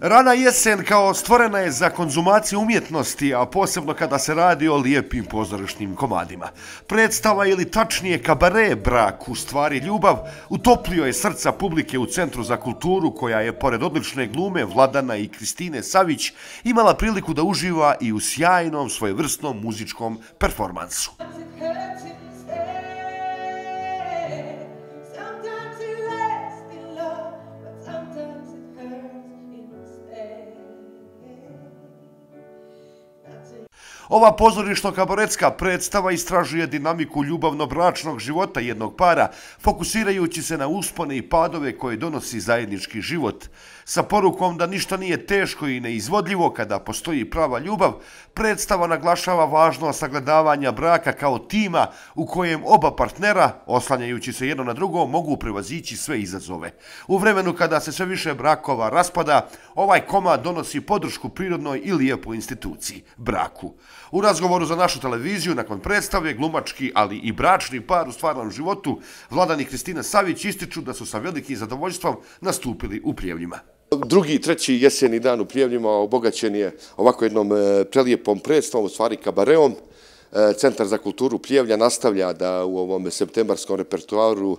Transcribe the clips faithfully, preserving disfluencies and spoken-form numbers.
Rana jesen kao stvorena je za konzumaciju umjetnosti, a posebno kada se radi o lijepim pozorišnim komadima. Predstava ili tačnije kabare Brak, u stvari ljubav, utoplio je srca publike u Centru za kulturu, koja je pored odlične glume Vladana i Kristine Savić imala priliku da uživa i u sjajnom svojevrsnom muzičkom performansu. Ova pozorišno-kabaretska predstava istražuje dinamiku ljubavno-bračnog života jednog para, fokusirajući se na uspone i padove koje donosi zajednički život. Sa porukom da ništa nije teško i neizvodljivo kada postoji prava ljubav, predstava naglašava važnost sagledavanja braka kao tima u kojem oba partnera, oslanjajući se jedno na drugo, mogu prevazići sve izazove. U vremenu kada se sve više brakova raspada, ovaj komad donosi podršku prirodnoj i lijepoj instituciji – braku. U razgovoru za našu televiziju nakon predstave glumački, ali i bračni par u stvarnom životu, Vladan i Kristina Savić ističu da su sa velikim zadovoljstvom nastupili u Prijevljima. Drugi i treći jeseni dan u Prijevljima obogaćen je ovako jednom prelijepom predstavom, u stvari kabareom. Centar za kulturu Prijevlja nastavlja da u ovom septembarskom repertoaru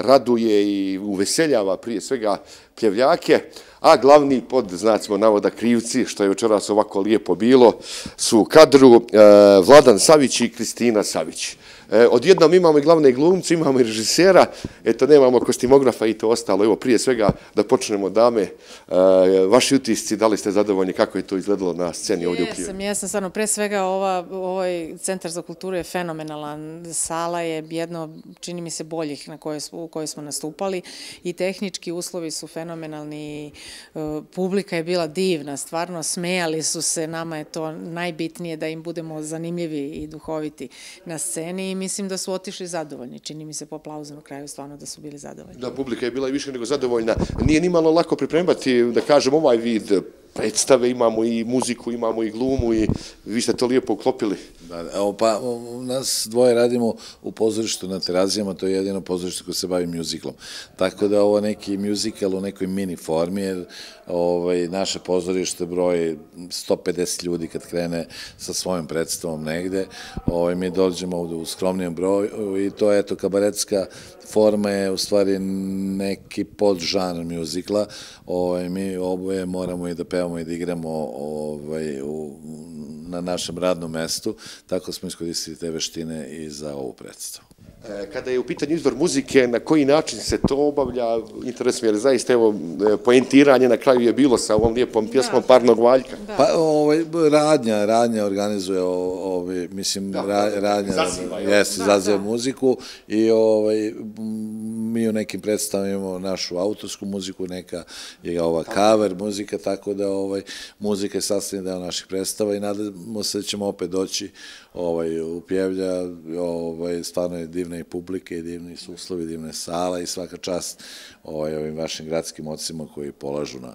raduje i uveseljava prije svega pljevljake, a glavni, pod znacima navoda, krivci, što je večeras ovako lijepo bilo, su u kadru Vladan Savić i Kristina Savić. Odjednom imamo i glavne glumce, imamo i režisera, eto nemamo kostimografa i to ostalo. Evo prije svega da počnemo, dame, vaši utisci, da li ste zadovoljni, kako je to izgledalo na sceni ovdje u Prijevlju? Jesam, jesam, stvarno, pre svega ovaj Centar za kulturu je fenomenalan, sala je jedno, čini mi se, boljih u kojoj smo nastupali i tehnički uslovi su fenomenalni, publika je bila divna, stvarno smejali su se, nama je to najbitnije da im budemo zanimljivi i duhoviti na sceni. Mislim da su otišli zadovoljni. Čini mi se po aplauzu na kraju stvarno da su bili zadovoljni. Da, publika je bila i više nego zadovoljna. Nije nimalo lako pripremati, da kažem, ovaj vid predstave, imamo i muziku, imamo i glumu i vi ste to lijepo uklopili. Pa, nas dvoje radimo u pozorištu na Terazijama, to je jedino pozorište koje se bavi muziklom. Tako da ovo neki muzikal u nekoj mini formi, jer naše pozorište broji sto pedeset ljudi kad krene sa svojom predstavom negde. Mi dođemo ovdje u skromnijem broju i to je, eto, kabaretska forma je u stvari neki podžanr muzikla. Mi oboje moramo i da pevamo i da igramo na našem radnom mestu, tako smo iskoristili te veštine i za ovu predstavu. Kada je u pitanju izbor muzike, na koji način se to obavlja, interesuje, jer zaista, evo, poentiranje na kraju je bilo sa ovom lijepom pjesmom Parnog Valjka. Pa, Radnja, Radnja organizuje, mislim, Radnja izaziva muziku i mi u nekim predstavama imamo našu autorsku muziku, neka je ova cover muzika, tako da muzika je sastavni deo naših predstava i nadamo se da ćemo opet doći u Prijevlja, stvarno je divna i publike, i divni su uslovi, divne sala i svaka čast ovim vašim gradskim ocima koji polažu na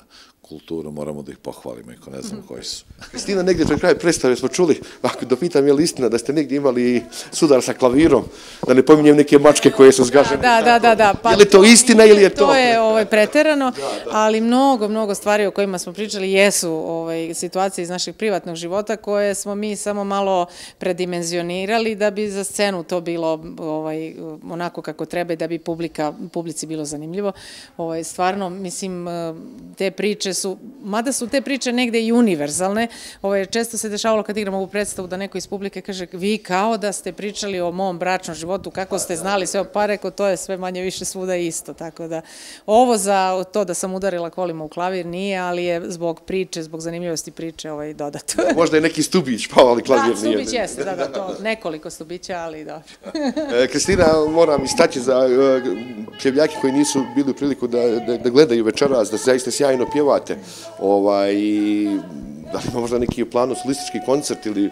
kulturu, moramo da ih pohvalimo, iako ne znamo koji su. Kristina, negdje pred kraj predstave smo čuli, ako da pitam je li istina, da ste negdje imali sudar sa klavirom, da ne pominjem neke mačke koje su zgažene. Da, da, da, da. Je li to istina ili je to? To je preterano, ali mnogo, mnogo stvari o kojima smo pričali jesu situacije iz našeg privatnog života koje smo mi samo malo predimenzionirali da bi za scenu to bilo onako kako treba i da bi publici bilo zanimljivo. Stvarno, mislim, te priče su, mada su te priče negde i univerzalne, često se dešavalo kad igramo ovu predstavu da neko iz publike kaže vi kao da ste pričali o mom bračnom životu, kako ste znali sve, pa reko to je sve manje više svuda isto, tako da ovo za to da sam udarila kolima u klavir nije, ali je zbog priče, zbog zanimljivosti priče dodato. Možda je neki stubić pao, ali klavir nije. Da, stubić jeste, da, da, to nekoliko stubića, ali dobro. Kristina, moram istaći za pljevljake koji nisu bili u priliku da gledaju večeras, da zaista sjajno pjevate. Da li ima možda neki u planu solistički koncert ili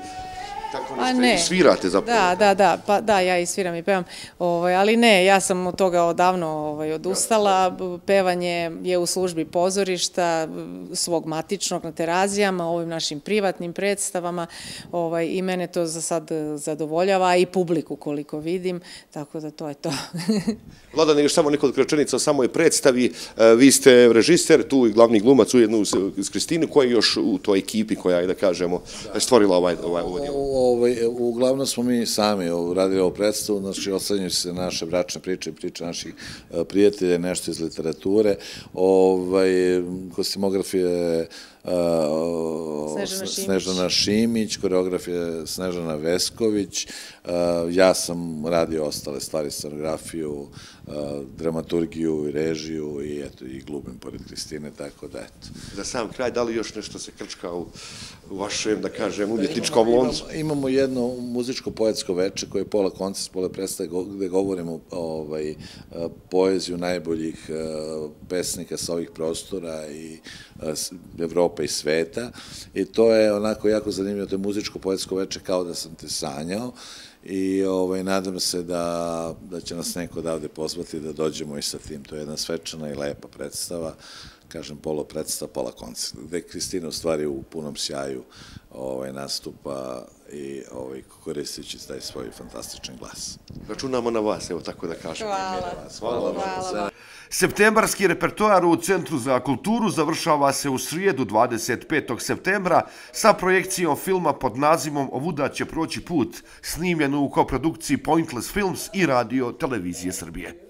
Tako nešto i svirate zapravo. Da, da, da, pa da, ja i sviram i pevam, ovaj, ali ne, ja sam od toga odavno ovaj, odustala, pevanje je u službi pozorišta, svog matičnog na Terazijama, ovim našim privatnim predstavama ovaj, i mene to za sad zadovoljava i publiku koliko vidim, tako da to je to. Vladane, još samo nekoliko rečenica o samoj predstavi. Vi ste režiser, tu i glavni glumac ujedno uz Kristinu, koja je još u toj ekipi koja je, da kažemo, stvorila ovaj ovaj Uglavnom smo mi sami radili ovu predstavu, znači oslanjaju se naše bračne priče i priče naših prijatelja, nešto iz literature, kostimografije Snežana Šimić, koreografija Snežana Vesković, ja sam radio ostale stvari, scenografiju, dramaturgiju i režiju i eto, i glumim pored Kristine, tako da eto. Za sam kraj, da li još nešto se krčka u vašem, da kažem, umjetničkom loncu? Imamo jedno muzičko-poetsko veče koje je pola koncert, pola predstave gde govorimo poeziju najboljih pesnika sa ovih prostora i Evrope i sveta i to je onako jako zanimljivo, to je muzičko-poetsko veče kao da sam te sanjao i nadam se da će nas neko odavde pozvati da dođemo i sa tim. To je jedna svečana i lepa predstava, kažem, polo predstava, pola koncert, gde Kristina u stvari u punom sjaju nastupa i koristići taj svoj fantastičan glas. Računamo na vas, evo tako da kažem. Hvala. Hvala. Septembarski repertoar u Centru za kulturu završava se u srijedu dvadeset petog septembra sa projekcijom filma pod nazivom Ovuda će proći put, snimljenu u koprodukciji Pointless Films i Radio Televizije Srbije.